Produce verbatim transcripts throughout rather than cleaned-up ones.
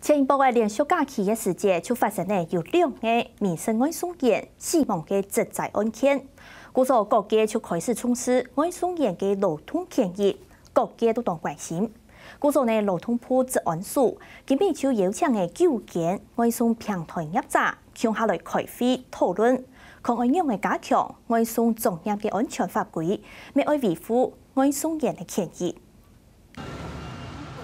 前一駁个連續假期个時節，就發生了有兩个民生外送員死亡个職災案件。故所各界就開始重視外送員个勞動權益，各界都當關心。故所呢，勞動部職安署今晡日就邀請了九間外送平台業者共下來開會討論，看愛仰仔加強外送作業个安全法規，乜愛維護外送員个權益。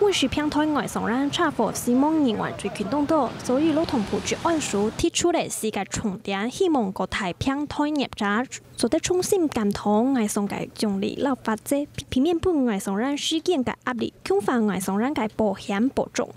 外食平台外送員車禍死亡人員最近當多，所以勞動部職安署提出了四個重點，希望各大平台業者做得重新檢討外送个獎勵摎罰則，避免分外送員時間个壓力，強化外送員个保險保障。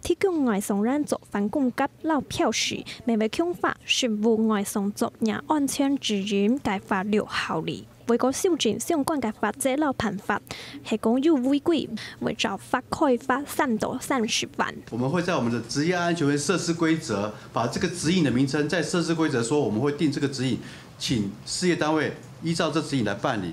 提供外送員作飯工價摎標示，乜會強化食物外送作業安全指引个法律效力。 會過修正相關个法則摎辦法，係講有違規，會照罰開罰三到三十萬。我們會在我們的職業安全衛生設施規則，把這個指引的名稱在設施規則說，我們會定這個指引，請事業單位依照這指引來辦理。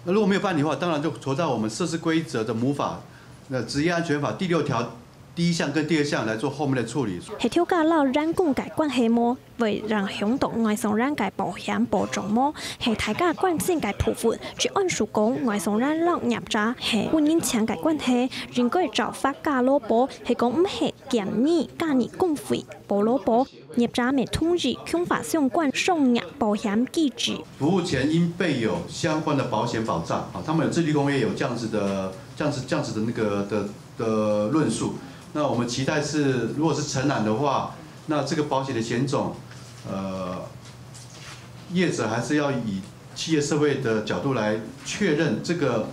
那如果沒有辦理的話，當然就回到我們設施規則的母法，那職業安全法第六條第一項跟第二項來做後面的處理。係頭家摎員工个關係無， 會影響到外送員个保險保障無，係大家關心个部分。職安署講，外送員摎業者係本人情个關係，應該照罰加勞保，係講毋係減二加二工費補勞保。業者乜同意強化相關商業保險機制。服務前應備有相關的保險保障，啊，他們有自律公約有這樣子的、這樣子、這樣子的那個的的論述。那我們期待是，如果是承攬的話，那這個保險的險種，呃，業者還是要以企業社會的角度來確認這個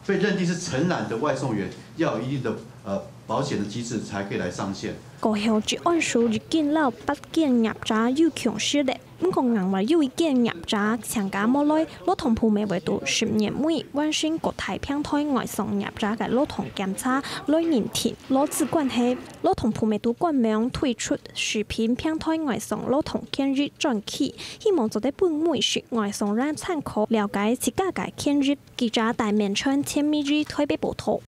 被認定是承攬的外送員要有一定的呃保險的機制才可以來上線。過後，職安署已經摎八間業者有共識了。 毋過，另外有一間業者請假無來，勞動部乜會在十月尾完成各大平台外送業者个勞動檢查，來認定勞資關係。勞動部乜在官網推出食品平台外送勞動權益專區，希望做得分每食外送員參考，了解自家个權益。記者戴明春、陳美儀台北報導。